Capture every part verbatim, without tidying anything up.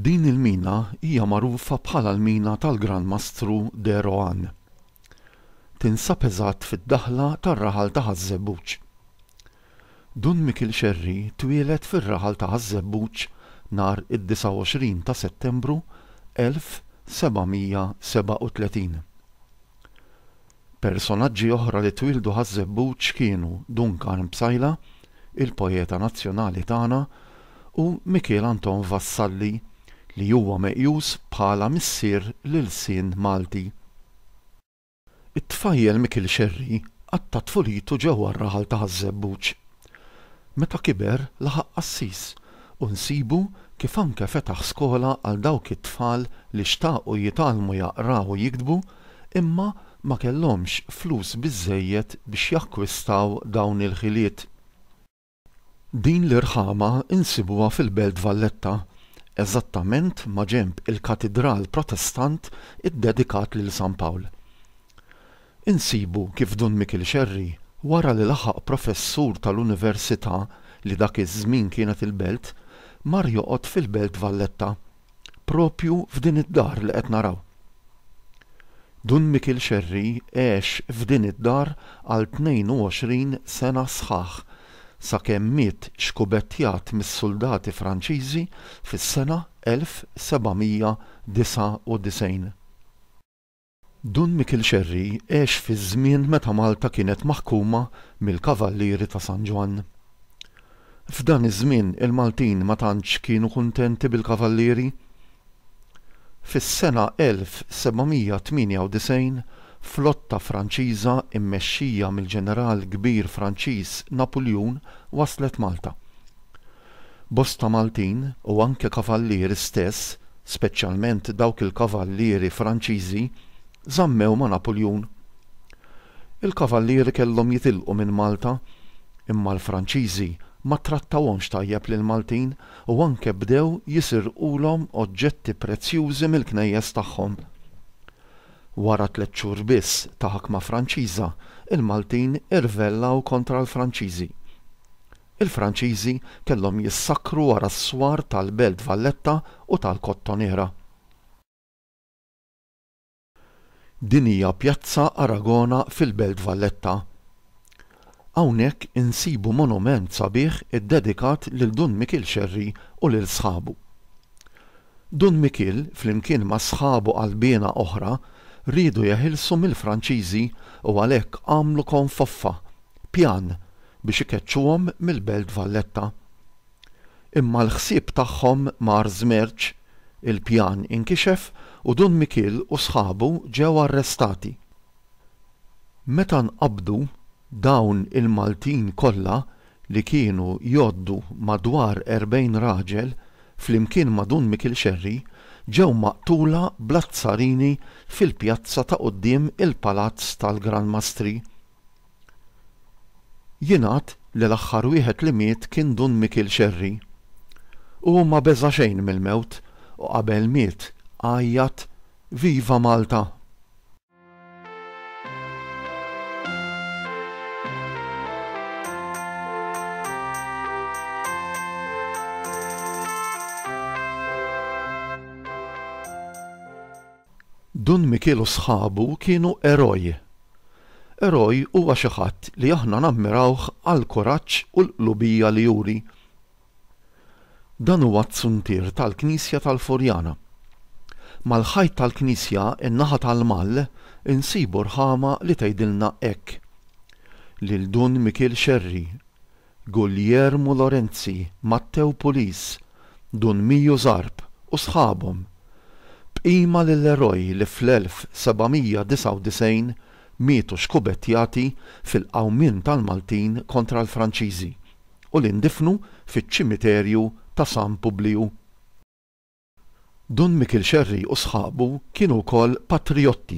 Din il-mina hija magħrufa bħala l-mina tal-Gran Mastru de Rohan. Tinsab eżatt fid-daħla tar-raħal ta' Ħaż-Żebbuġ. Dun Mikiel Xerri twieled fir-raħal ta' Ħaż-Żebbuġ nhar id-disgħa u għoxrin ta' Settembru elf seba' mija sebgħa u tletin. Personaġġi oħra li twieldu Ħaż-Żebbuġ kienu Dun Karm Psaila, il-poeta nazzjonali tagħna, u Mikiel Anton Vassalli, li huwa meqjus bħala missier l-ilsien Malti. It-tfajjel Mikiel Xerri qatta' tfulitu ġewwa r-raħal ta' Ħaż-Żebbuġ. Meta kiber laħaq qassis u nsibu kif anke fetaħ skola għal dawk it-tfal li xtaqu jitgħallmu jaqraw u jiktbu imma ma kellhomx flus biżżejjed biex jakkwistaw dawn il-ħiliet. Din l-irħama insibuha fil-Belt Valletta, eżattament ma' ġenb il-Katidral Protestant iddedikat lil San Pawl. Insibu kif Dun Mikiel Xerri, wara li laħaq professur tal-Università li dak iż-żmien kienet il-Belt, mar joqgħod fil-Belt Valletta, propju f'din id-dar li qed naraw. Dun Mikiel Xerri għex f'din id-dar għal tnejn u għoxrin sena sħaħ, sakemm miet xkubettjat mis-soldati Franċiżi fis-sena elf seba' mija disgħa u disgħin. Dun Mikiel Xerri għex fi żmien meta Malta kienet maħkuma mill-Kavallieri ta' San Ġwann. F'dan iż-żmien il-Maltin ma tantx kienu kuntenti bil-Kavallieri. Fis-sena elf seba' mija tmienja u disgħin, flotta Franċiża immexxija mill-ġeneral kbir Franċiż Napuljun waslet Malta. Bosta Maltin u anke kavallieri stess, speċjalment dawk il-kavallieri Franċiżi, żammew ma' Napuljun. Il-kavallieri kellhom jitilqu minn Malta, imma l-Franċiżi ma trattawhomx tajjeb lill-Maltin u anke bdew jisirqulhom oġġetti prezzjużi mill-knejjes tagħhom. Wara tliet xhur biss ta' ħakma Franċiża, il-Maltin irvellaw kontra l-Franċiżi. Il-Franċiżi kellhom jissakru wara s-swar tal-Belt Valletta u tal-Kottonera. Din hija Pjazza Aragona fil-Belt Valletta. Hawnhekk insibu monument sabiħ iddedikat lil Dun Mikiel Xerri u lil sħabu. Dun Mikiel, flimkien ma' sħabu qalbiena oħra, riedu jeħilsu mill-Franċiżi u għalhekk għamlu konfoffa, pjan biex ikeċċuhom mill-Belt Valletta. Imma l-ħsieb tagħhom mar żmerċ, il-pjan inkixef u Dun Mikiel u sħabu ġew arrestati. Meta nqabdu dawn il-Maltin kollha li kienu jgħoddu madwar erbgħin raġel flimkien ma' Dun Mikiel Xerri ġew maqtula bl-azzarini fil-pjazza ta' quddiem il-Palazz tal-Gran Mastri. Jingħad li l-aħħar wieħed li miet kien Dun Mikiel Xerri. U ma beża' xejn mill-mewt u qabel miet għajjat Viva Malta! Dun Mikiel u sħabu kienu eroj. Eroj huwa xi ħadd li aħna nammirawh għal kuraġġ u l-qlubija li juri. Dan huwa t-zuntier tal-Knisja tal-Furjana. Mal-ħajt tal-Knisja in-naħa tal-Mall insibu rħama li tgħidilna hekk. Lil Dun Mikiel Xerri, Guglielmo Lorenzi, Matteo Pulis, Dun Miju Zarb u sħabhom. Bqima lill-eroj li fl-elf seba' mija disgħa u disgħin mietu xkubettjati fil-qawmien tal-Maltin kontra l-Franċiżi u li ndifnu fiċ-ċimiterju ta' San Publiju. Dun Mikiel Xerri u sħabu kienu wkoll patriotti.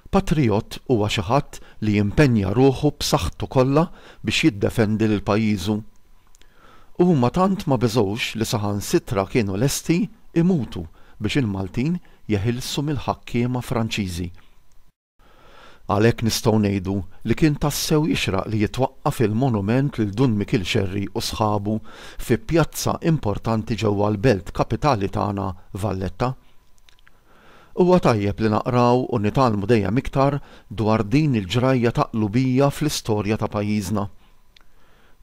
Patriot huwa xi ħadd li jimpenja ruħu b'saħħtu kollha biex jiddefendi lil pajjiżu. Huma tant ma beżgħux li saħansitra kienu lesti imutu biex il-Maltin jeħilsu mill-ħakkiema Franċiżi. Għalhekk nistgħu ngħidu li kien tassew jixraq li jitwaqqaf il-monument lil Dun Mikiel Xerri u sħabu fi pjazza importanti ġewwa l-belt kapitali tagħna Valletta. Huwa tajjeb li naqraw u nitgħallmu dejjem iktar dwar din il-ġrajja ta' qlubija fl-istorja ta' pajjiżna.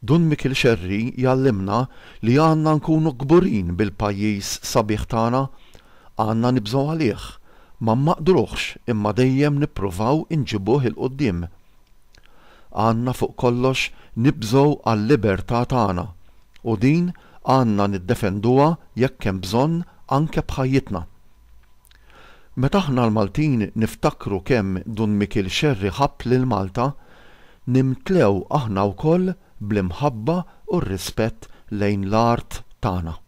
Dun Mikiel Xerri jgħallimna li għandna nkunu kburin bil-pajjiż sabiħ tagħna, għandna nibżgħu għalih, ma mmaqdruhx imma dejjem nippruvaw inġibuh 'il quddiem. Għandna fuq kollox nibżgħu għal-libertà tagħna u din għandna niddefenduha jekk hemm bżonn anke b'ħajjitna. Meta aħna l-Maltin niftakru kemm Dun Mikiel Xerri ħabb lil Malta, nimtlew aħna wkoll bl-imħabba u r-rispett lejn l-art tagħna.